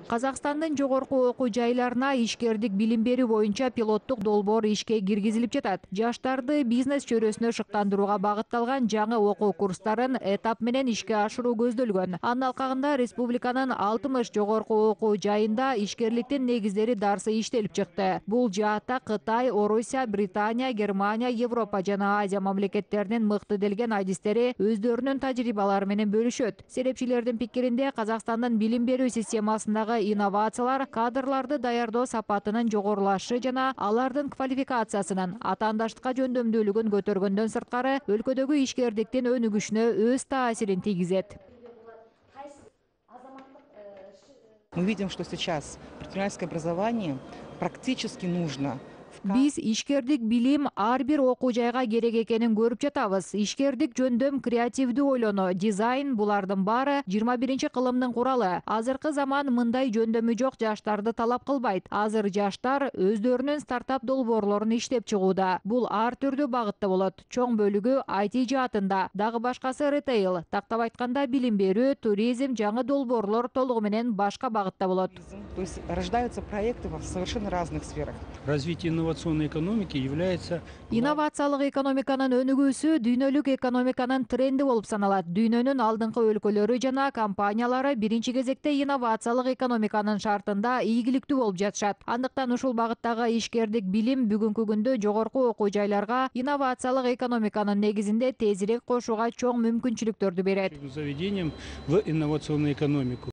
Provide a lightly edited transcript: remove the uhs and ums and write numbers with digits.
Казакстандын жогорку окуу жайларына ишкердик билим берүү боюнча пилоттук долбоор ишке киргизилип жатат. Жаштарды бизнес чөйрөсүнө шыктандырууга багытталган жаңы окуу курстарын этап менен ишке ашыруу көздөлгөн. Анын алкагында республиканын 60 жогорку окуу жайында ишкерликтин негиздери дарсы иштелип чыкты. Бул жаатта Кытай, Орусия, Британия, Германия, Европа жана Азия мамлекеттеринин мыкты делген адистери өздөрүнүн тажрыйбалары менен бөлүшөт. Серепчилердин пикиринде Казакстандын билим берүү системасындагы инновациялар кадрларды даярдоо сапатынын жогорулашы жана алардын квалификациясынын атаандаштыкка жөндөмдүүлүгүн көтөргөндөн сырткары өлкөдөгү ишкердиктин өнүгүшүнө өз таасирин тийгизет. Мы видим, что сейчас предпринимательское образование практически нужно. Биз ишкердик билим ар бир окуу жайга керек экенин көрүп жатабыз. Ишкердик жөндөм, креативдүү ойлонуу, дизайн булардын баары 21-кылымдын куралы. Азыркы заман мындай жөндөмү жок жаштарды талап кылбайт. Азыр жаштар өздөрүнүн стартап долбоорлорун иштеп чыгууда. Бул ар түрдүү багытта болот. Чоң бөлүгү IT жаатында, дагы башкасы ритейл. Тактап айтканда билим берүү, туризм, жаңы долбоорлор толугу менен башка багытта болот. То есть рождаются проекты в совершенно разных сферах. Развитие инновационной экономики является... Инновациялык экономиканын өнүгүүсү дүйнөлүк экономиканын тренди болуп саналат. Дүйнөнүн алдыңкы өлкөлөрү жана компаниялары биринчи кезекте инновациялык экономиканын шартында ийгиликтүү болуп жатышат. Андыктан ушул багыттагы ишкердик билим бүгүнкү күндө жогорку окуу жайларга инновациялык экономиканын негизинде тезирээк кошууга чоң мүмкүнчүлүктөрдү берет. Заведением в инновационную экономику.